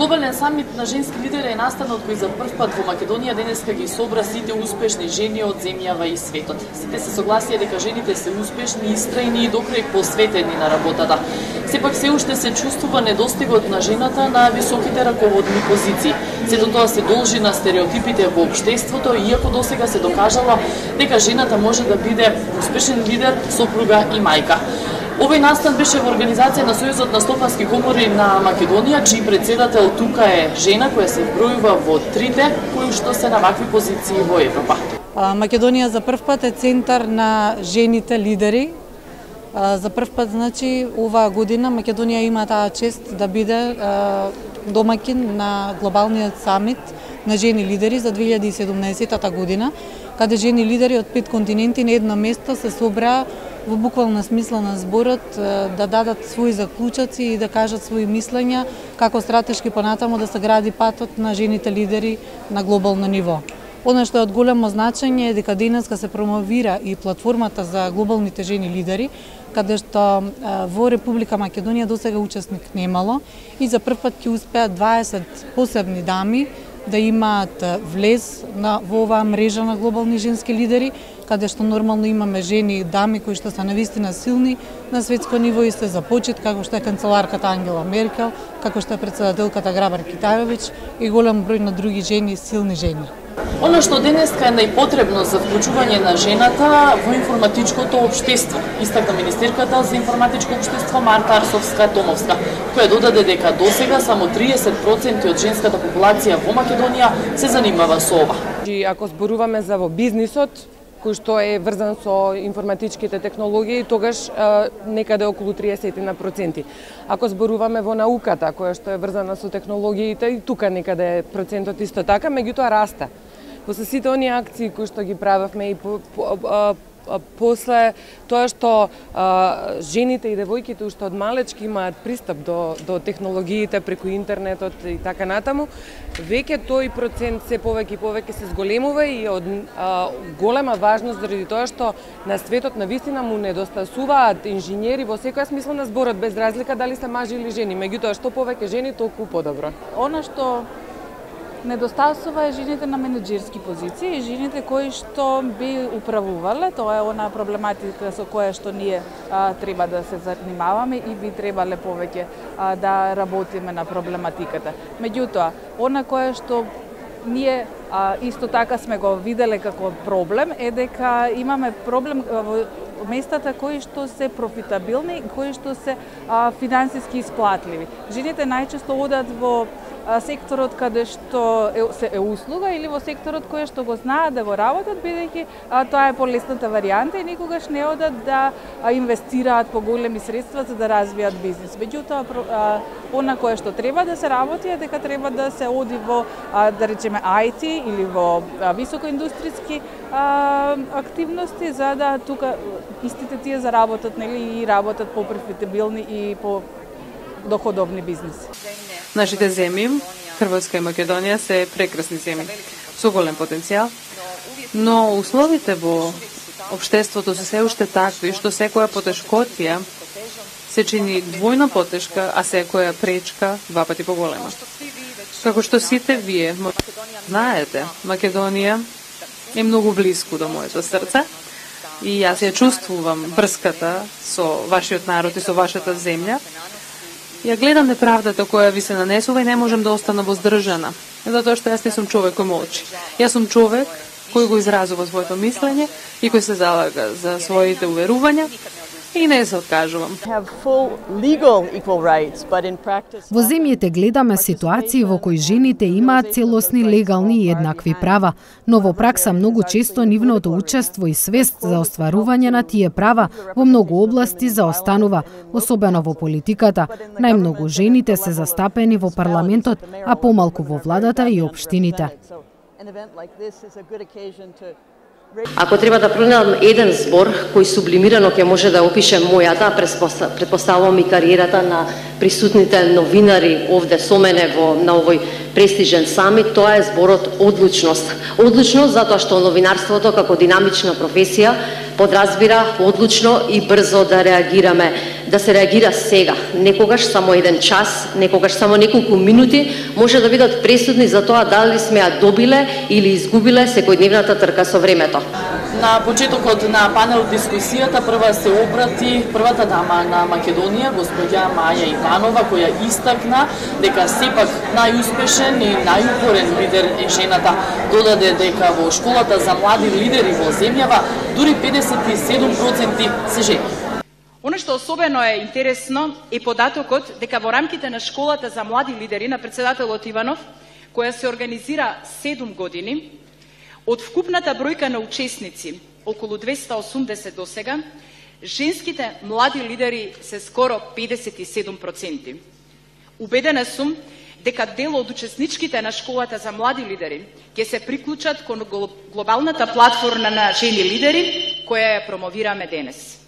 Глобален самит на женски лидери е настанот кој за прв пат во Македонија денеска ги собра сите успешни жени од земјава и светот. Сите се согласија дека жените се успешни, истрајни и до крај посветени на работата. Сепак се уште се чувствува недостигот на жената на високите раководни позиции. Сето тоа се должи на стереотипите во општеството, иако досега се докажало дека жената може да биде успешен лидер, сопруга и мајка. Овој настан беше во организација на Сојузот на стопански комори на Македонија, чиј председател тука е жена која се вбројува во трите кои што се на вакви позиции во Европа. Македонија за прв пат е центар на жените лидери. За прв пат, значи, оваа година Македонија има таа чест да биде домакин на глобалниот самит на жени лидери за 2017 година, каде жени лидери од 5 континенти на едно место се собраа во буквална смисла на зборот да дадат своји заклучоци и да кажат своји мислења како стратешки понатаму да се гради патот на жените лидери на глобално ниво. Она што е од големо значење е дека денеска се промовира и платформата за глобалните жени лидери, каде што во Република Македонија досега учесник немало и за прв пат ќе успеат 20 посебни дами да имаат влез во оваа мрежа на глобални женски лидери, каде што нормално имаме жени и дами кои што се навистина силни на светско ниво и се за почит, како што е канцеларката Ангела Меркел, како што е председателката Грабар Китајовиќ и голем број на други жени, силни жени. Она што денеска е најпотребно за вклучување на жената во информатичкото општество, истакна министерката за информатичко општество Марта Арсовска-Томовска, која додаде дека досега само 30% од женската популација во Македонија се занимава со ова. Ако зборуваме за во бизнисот, кој што е врзан со информатичките технологии, тогаш некаде околу 30%. Ако зборуваме во науката, која што е врзана со технологиите, и тука некаде е процентот исто така, меѓутоа расте. Во сите оние акции кои што ги правевме и после тоа што жените и девојките уште од малечки имаат пристап до технологиите преку интернетот и така натаму, веќе тој процент се повеќе и повеќе се зголемува и од голема важност заради тоа што на светот навистина му недостасуваат инженери во секоја смисла на зборот, без разлика дали се мажи или жени, меѓутоа што повеќе жени толку подобро. Она што недостасува е жените на менеджерски позиции и жените кои што би управувале, тоа е она проблематика со која што ние треба да се занимаваме и би требале повеќе да работиме на проблематиката. Меѓутоа, она кое што ние исто така сме го виделе како проблем е дека имаме проблем во местата кои што се профитабилни, кои што се финансиски исплатливи. Жените најчесто одат во секторот каде што е услуга или во секторот кој што го знаат да го работат, бидејќи тоа е полесната варијанта и никогаш не одат да инвестираат поголеми средства за да развијат бизнис. Меѓутоа, она кое што треба да се работи е дека треба да се оди во, да речеме, IT или во високоиндустријски активности, за да тука истите тие заработат, нели, и работат по-профитабилни и по доходовни бизнеси. Нашите земји, Хрватска и Македонија, се прекрасни земји со голем потенцијал, но условите во општеството се се уште такви што секоја потешкотија се чини двојно потешка, а секоја пречка два пати поголема. Како што сите вие знаете, Македонија е многу близко до моето срце и јас ја чувствувам врската со вашиот народ и со вашата земја. Ја гледам неправдата која ви се нанесува и не можам да остана воздржана, затоа што јас не сум човек кој молчи. Јас сум човек кој го изразува своето мислење и кој се залага за своите уверувања и не се откажувам. Во земјите гледаме ситуации во кои жените имаат целосни, легални и еднакви права, но во пракса многу често нивното учество и свест за остварување на тие права во многу области заостанува, особено во политиката. Најмногу жените се застапени во парламентот, а помалку во владата и општините. Ако треба да пронајдам еден збор кој сублимирано ќе може да опише мојата, претпоставувам и кариерата на присутните новинари овде со мене на овој престижен самит, тоа е зборот одлучност. Одлучност затоа што новинарството како динамична професија подразбира одлучно и брзо да реагираме, да се реагира сега. Некогаш само еден час, некогаш само неколку минути може да бидат пресудни за тоа дали сме ја добиле или изгубиле секојдневната трка со времето. На почетокот на панел дискусијата прва се обрати првата дама на Македонија, господја Маја Иванова, која истакна дека сепак најуспешен и најупорен лидер е жената. Додаде дека во школата за млади лидери во земјава дури 57% се жени. Оно што особено е интересно е податокот дека во рамките на школата за млади лидери на председателот Иванов, која се организира 7 години, од вкупната бројка на учесници, околу 280 до сега, женските млади лидери се скоро 57%. Убедена сум дека дел од учесничките на школата за млади лидери ќе се приклучат кон глобалната платформа на жени лидери која ја промовираме денес.